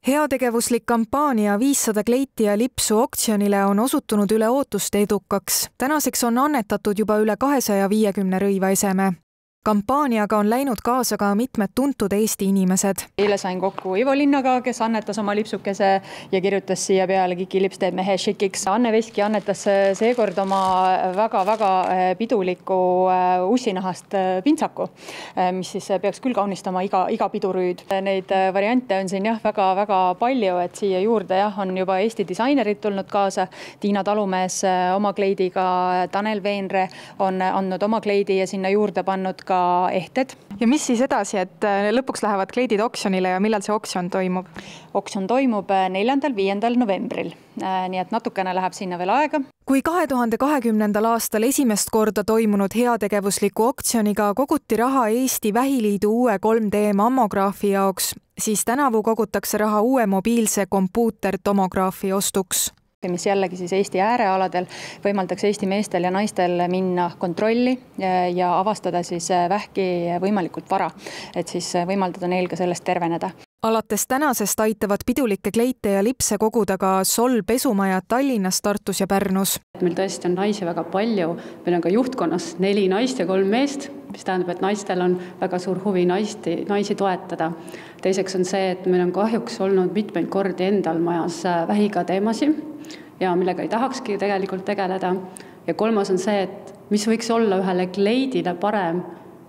Heategevuslik kampaania 500 kleiti ja lipsu oktsionile on osutunud üle ootuste edukaks. Tänaseks on annetatud juba üle 250 rõivaeseme. Kampaaniaga on läinud kaasa ka mitmed tuntud Eesti inimesed. Eile sain kokku Ivo Linnaga, kes annetas oma lipsukese ja kirjutas siia peale Kiki lips teeb mehe šikiks. Anne Veski annetas seekord oma väga-väga piduliku ussinahast pintsaku, mis siis peaks küll kaunistama iga pidurüüd. Neid variante on siin väga-väga palju, et siia juurde on juba Eesti disainerid tulnud kaasa. Tiina Talumees oma kleidiga, Tanel Veenre on andnud oma kleidi ja sinna juurde pannud ehted. Ja mis siis edasi, et lõpuks lähevad kleidid oksjonile ja millal see oksjon toimub? Oksjon toimub 4.–5. novembril, nii et natukene läheb sinna veel aega. Kui 2020. aastal esimest korda toimunud heategevusliku oksjoniga koguti raha Eesti Vähiliidu uue 3D mammograafi jaoks, siis tänavu kogutakse raha uue mobiilse kompuutertomograafi ostuks, mis jällegi siis Eesti äärealadel võimaldaks Eesti meestel ja naistel minna kontrolli ja avastada siis vähki võimalikult vara, et siis võimaldada neil ka sellest terveneda. Alates tänasest aitavad pidulikke kleite ja lipse koguda ka Sol pesumajad Tallinnas, Tartus ja Pärnus. Meil tõesti on naisi väga palju, meil on ka juhtkonnas 4 naist ja 3 meest, mis tähendab, et naistel on väga suur huvi naisi toetada. Teiseks on see, et meil on kahjuks olnud mitmeid kordi endal majas vähiga teemasid ja millega ei tahakski tegelikult tegeleda. Ja kolmas on see, et mis võiks olla ühele kleidile parem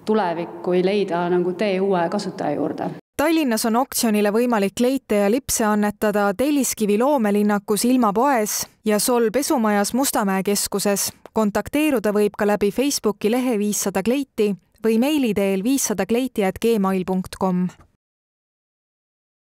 tulevik, kui leida tee uue kasutaja juurde. Tallinnas on oksjonile võimalik kleite ja lipse annetada Telliskivi loomelinnakus Ilmapoes ja Sol pesumajas Mustamäe keskuses. Kontakteeruda võib ka läbi Facebooki lehe 500 kleiti või meili teel 500kleiti@gmail.com.